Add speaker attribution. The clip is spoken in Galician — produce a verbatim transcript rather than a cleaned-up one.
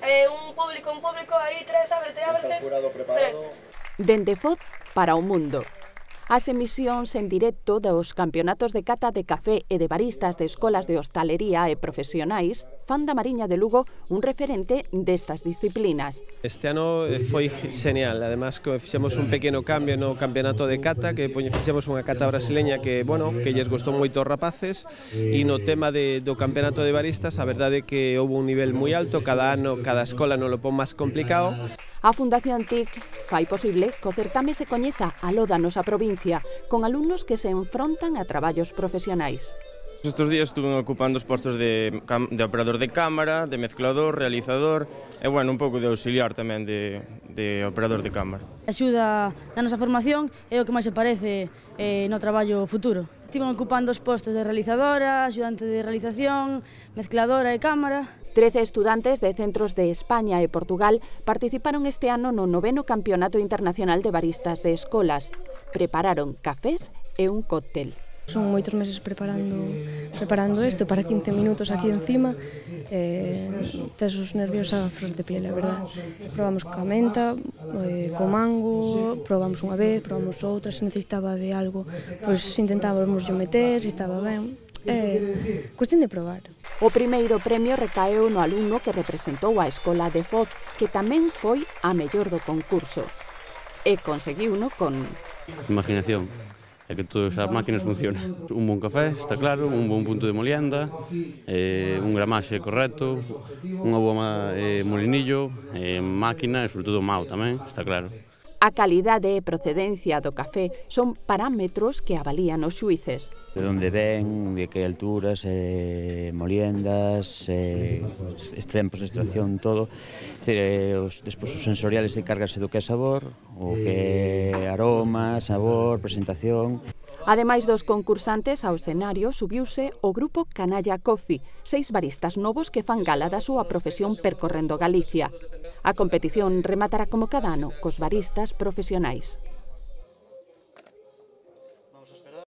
Speaker 1: Eh, un público, un público, aí, tres, ábrete, ábrete.
Speaker 2: Está el jurado preparado.
Speaker 1: Tres.
Speaker 3: Dende Foz para o mundo. As emisións en directo dos campeonatos de cata de café e de baristas de escolas de hostalería e profesionais fan da Mariña de Lugo un referente destas disciplinas.
Speaker 4: Este ano foi genial, además que fixemos un pequeno cambio no campeonato de cata, que fixemos unha cata brasileña que, bueno, que lles gostou moito aos rapaces, e no tema de, do campeonato de baristas, a verdade é que houve un nivel moi alto, cada ano, cada escola non lo pon máis complicado.
Speaker 3: A Fundación T I C fai posible que o certame se coñeza a lo da nosa provincia, con alumnos que se enfrontan a traballos profesionais.
Speaker 5: Estes días estuve ocupando os postos de, de operador de cámara, de mezclador, realizador e, bueno, un pouco de auxiliar tamén de, de operador de cámara.
Speaker 6: Axuda na nosa formación é o que máis se parece eh, no traballo futuro. Estiven ocupando os postos de realizadora, axudante de realización, mezcladora e cámara.
Speaker 3: Trece estudantes de centros de España e Portugal participaron este ano no noveno Campeonato Internacional de Baristas de Escolas. Prepararon cafés e un cóctel.
Speaker 7: Son moitos meses preparando preparando isto para quince minutos aquí encima. Eh, tes os nervios a flor de piel, a verdad. Probamos coa menta, eh, co mango, probamos unha vez, probamos outra, se necesitaba de algo, pois intentábamos yo meter, se estaba ben. É cuestión de probar.
Speaker 3: O primeiro premio recaeu no alumno que representou a escola de Foz, que tamén foi a mellor do concurso. E conseguiuno con
Speaker 8: imaginación. É que todas as máquinas funcionan. Un bon café, está claro, un bon punto de molienda, eh, un gramaxe correcto, unha boa eh, molinillo, eh, máquina e, sobre todo, mau tamén, está claro.
Speaker 3: A calidade e procedencia do café son parámetros que avalían os xuíces.
Speaker 9: De onde ven, de que alturas, eh, moliendas, eh, tempos de extracción, todo. Decir, eh, os, despois os sensoriales encárgase do que é sabor, o que é aroma, sabor, presentación.
Speaker 3: Ademais dos concursantes, ao escenario subiuse o grupo Canalla Coffee, seis baristas novos que fan gala da súa profesión percorrendo Galicia. A competición rematará como cada ano cos baristas profesionais.